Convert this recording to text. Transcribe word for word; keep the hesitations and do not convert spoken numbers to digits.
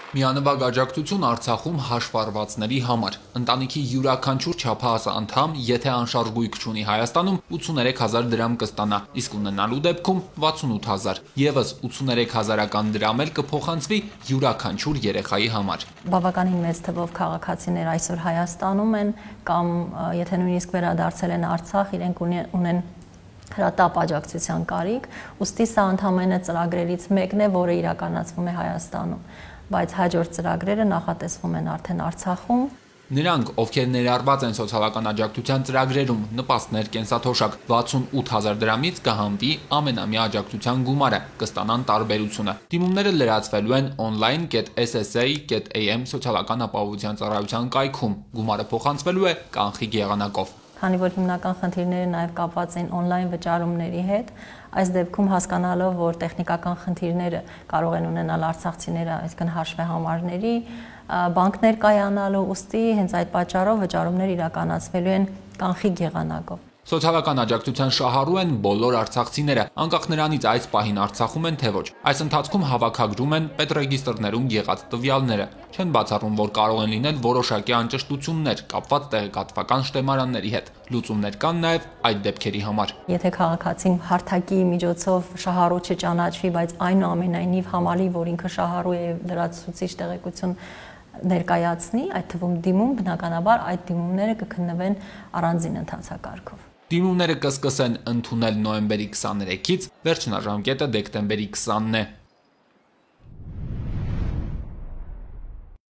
Միանվագ աջակցություն Արցախում հաշվառվածների համար։ Ընտանիքի յուրաքանչյուր չափահաս անդամ, եթե անշարժ գույք չունի Հայաստանում, ութսուներեք հազար դրամ կստանա, իսկ ունենալու դեպքում վաթսունութ հազար։ Եվս ութսուներեք հազարական դրամ էլ կփոխանցվի յուրաքանչյուր երեխայի համար։ Բավականին մեծ թվով քաղաքացիներ այսօր Հայաստանում են կամ եթե նույնիսկ վերադարձել են Արցախ, իրենք ունեն հրատապ աջակցության կարիք, ուստի սա ընդհանրապես ծրագրերից մեկն է, որը իրականացվում է Հայաստանում, բայց հաջորդ ծրագրերը նախատեսվում են արդեն Արցախում։ Նրանք, ովքեր ներառված են սոցիալական աջակցության ծրագրերում, նպաստներ կենսաթոշակ, վաթսունութ հազար դրամից կհանվի ամենամյա աջակցության գումարը, կստանան տարբերությունը։ Դիմումները լրացվելու են online dot s s a dot a m սոցիալական ապահովության ծառայության կայքում, գումարը փոխանցվելու է կանխիկ եղանակով։ Քանի որ հիմնական խնդիրները նաև կապված են on-line վճարումների հետ, այս դեպքում հասկանալով, որ տեխնիկական խնդիրները կարող են ունենալ արցախցիները, այսինքն հաշվեհամարների, բանկներ կայանալու, ուստի հենց այդ պատճառով վճարումներ իրականացվելու են կանխիկ եղանակով։ Սոցիալական աջակցության շահառու են բոլոր արցախցիները, անկախ նրանից այս պահին Արցախում են թե ոչ։ Այս ընթացքում հավաքագրում են պետռեգիստրներում եղած տվյալները։ Չեն բացառում, որ կարող են լինել որոշակի անճշտություններ կապված տեղեկատվական շտեմարանների հետ։ Լուծումներ կան նաև այդ դեպքերի համար։ Եթե քաղաքացին հարթակի միջոցով շահառու չճանաչվի, բայց այնուամենայնիվ համալի, որ ինքը շահառու է լրացուցիչ տեղեկություն ներկայացնի, այդ թվում դիմում, բնականաբար այդ դիմումները կքննվեն առանձին ընթացակարգով։ Դիմումները կսկսեն ընդունել նոյեմբերի քսաներեքից, վերջնաժամկետը դեկտեմբերի քսանն է։